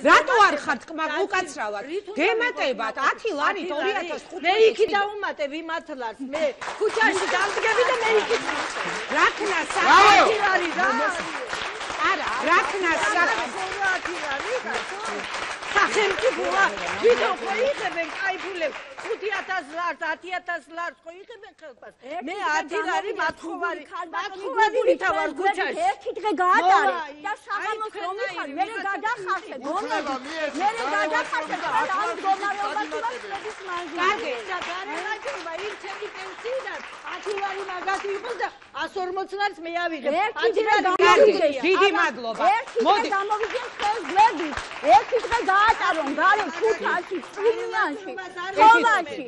რატო არ ხარ თქმა უკაცრავად გემატებათ 10 ლარი 2005 მე იქი დაუმატე ვიმართლას მე ქუჩაში დამდგები და მე იქი რაკნა 10 ლარი და არა რაკნა 10 ლარი და სახელმწიფოა ვიდეო ხო იღებენ კაიფულებს 5000 ლარს 10000 ლარს ხო იღებენ ხელფას მე 10 ლარი მათხოვარი ვითავარ ქუჩაში ერთი დღე გაატარე და საღამოს რომ მიხარ მე გადახარხე გონები მე გადახარხე და ამ მდგომარეობას ვასწრების მანძილზე კარგი და გარემაჯობა იმ ჩემი პენსიიდან 10 ლარი მაგათი იყოს და 140 ლარს მე ავიღებ 10 ლარი დიდი მადლობა მოდი გამოვიდნენ ხელს გვერდით ერთი დღე გაატარონ გარე ქუჩაში წვიმიანში ხოვაში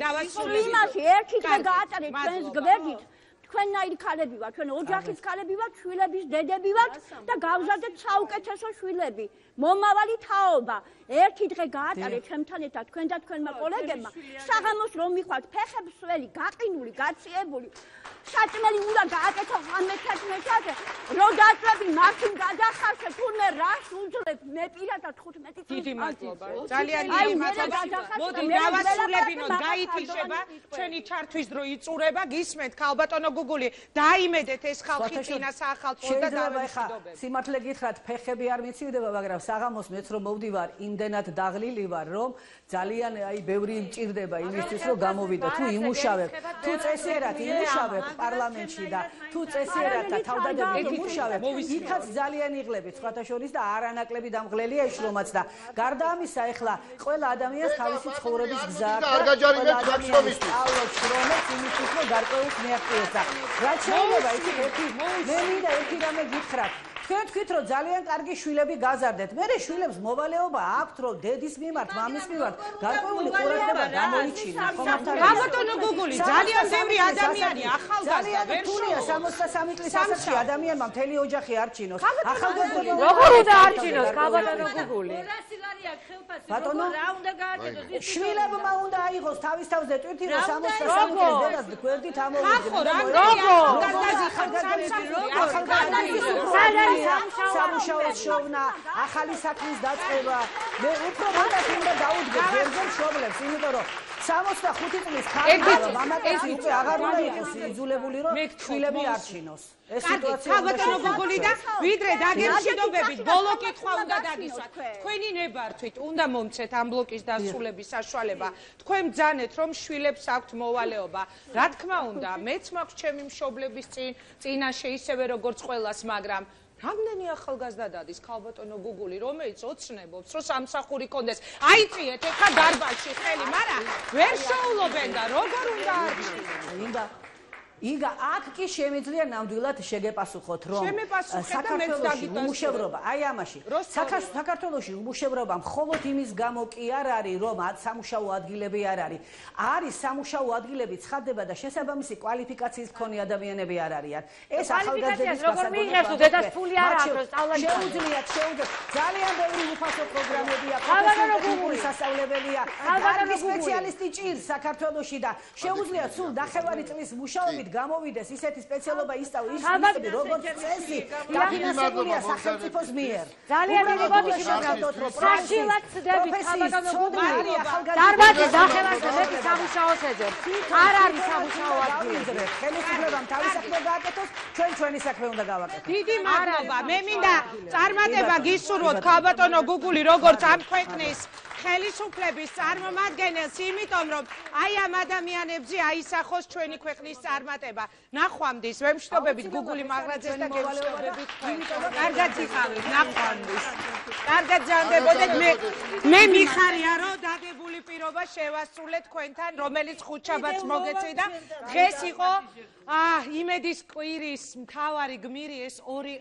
იმაში ერთი დღე გაატარეთ ჩვენს გვერდით თქვენნაირი ქალები ვართ ჩვენ ოჯახის ქალები ვართ შვილების დედები ვართ და გავზარდეთ საუკეთესო შვილები მომავალი თაობა ერთი დღე გაატარეთ ჩემთან ერთად თქვენ და თქვენმა კოლეგებმა საღამოს რომ მიხვალთ ფეხებსველი გაყინული გაციებული საჭმელი უნდა გააკეთო 15-ზე რო დაწყები მაშინ გადახარშე თურმე რას უძლებ მე პირადად 15 წელს დიდი მადლობა ძალიან დიდი მადლობა მოდი დავასრულებინოთ გაითიშება ჩვენი ჩართვის დრო იწურება გისმენთ ქალბატონო გუგული დაიმედეთ ეს ხალხი წინა საახალწლო და დავემშვიდობებ სიმართლე გითხრათ ფეხები არ მიცივდება მაგრამ საღამოს მეც რომ მოვდივარ იმდენად დაღლილი ვარ რომ ძალიან აი ბევრი მჭირდება იმისთვის რომ გამოვიდე თუ იმუშავებ თუ წესიერად იმუშავებ პარლამენტში და თუ წესიერად და თავდადებით იმუშავებ იქაც ძალიან იღლებით სხვათა შორის და არანაკლები დამღლელია ის რომაც და გარდა ამისა ეხლა ყველა ადამიანს თავისი ცხოვრების გზა აქვს და ყველა ადამიანს სწავლობს რომაც იმისთვის რომ გარკვეულს მიაღწიოს და რაც შეიძლება იცით მე მინდა ერთი რამე გითხრათ თქვენ თქვით რომ ძალიან კარგი შვილები გაზარდეთ მე შვილებს მოვალეობა აქვთ რომ დედის მიმართ მამის მიმართ გარკვეული ყურადღება გამოიჩინოთ ქალბატონო გუგული ძალიან ბევრი ადამიანია ახალგაზრდა ვერ შოუა 63 წლის ასაკში ადამიანმა მთელი ოჯახი არჩინოს ახალგაზრდა როგორ უნდა არჩინოს ქალბატონო გუგული 200 ლარი აქვს ხელფასი ბატონო რა უნდა გააკეთოს შვილებმა უნდა აიღოს თავის თავზე ტვირთი რომ 63 წლის დედას გვერდით ამოვიდეს სამუშაოს შოვნა, ახალი საქმის დაწყება. მე უფრო მეტად უნდა დაუდგე გერგენ შობლებს, იმიტომ რომ 65 წლის ქალბატონი მამაკაცი უკვე აღარ უნდა იყოს იძულებული რომ შვილები არჩინოს. ეს სიტუაცია ქალბატონო გუგული და ვიდრე დაგემშვიდობებით ბოლო კითხვა უნდა დაგისვათ. თქვენი ნებართვით უნდა მომცეთ ამ ბლოკის დასრულების საშუალება. თქვენ ბრძანეთ რომ შვილებს აქვთ მოვალეობა. რა თქმა უნდა, მეც მაქვს ჩემი მშობლების წინაშე ისევე როგორც ყველას, მაგრამ რამდენი ახალგაზრდა დადის ქალბატონო გუგული რომელიც ოცნებობს რომ სამსახური კონდეს აიწიეთ ეხა დარბაზში ხელი მაგრამ ვერ შოულობენ და როგორ უნდა არჩინონ იგა აქ კი შემიძლია ნამდვილად შეგეპასუხოთ რომ საქართველოში უმუშევრობა აი ამაში საქართველოში უმუშევრობა მხოლოდ იმის გამო კი არ არის რომ სამუშაო ადგილები არ არის არის სამუშაო ადგილები ცხადდება და შესაბამისი კვალიფიკაციის მქონე ადამიანები არ არიან ეს ახალგაზრდების როგორ მიიღებს დედას ფული არ აქვს რომ სწავლაში შეუძლიათ ძალიან ბევრი უფასო პროგრამებია პროფესიული სასწავლებელია კარგი სპეციალისტი ჭირს საქართველოში და შეუძლიათ სულ ნახევარი წლის მუშაობით გამოვიდეს ისეთი სპეციალობა ისწავლოს ის როგორც წესი დაფინანსებულია სახელმწიფოს მიერ ძალიან დიდი მოგიშურებთ საშილად ცდებით ქალბატონო გუგული დარბაზის ნახევარზე მეტი სამუშაოს ეძებს არ არის სამუშაო ადგილი ხელისუფლებამ თავის საქმე გააკეთოს ჩვენი საქმე უნდა გავაკეთოთ დიდი მადლობა მე მინდა წარმატება გისურვოთ ქალბატონო გუგული როგორც ამ ქვეყნის ხელისუფლების წარმომადგენელს იმიტომ რომ აი ამ ადამიანებზე აისახოს ჩვენი ქვეყნის წარმატება ნახვამდის ვემშვიდობებით გუგული მაღრაძეს და გემშვიდობებით კარგად იყავით ნახვამდის კარგად ჯანდებოდეთ მე მიხარია რომ დაგებული პირობა შევასრულეთ თქვენთან რომელიც ხუთშაბათს მოგეწვიდა დღეს იყო იმედის კვირის მთავარი გმირი ეს ორი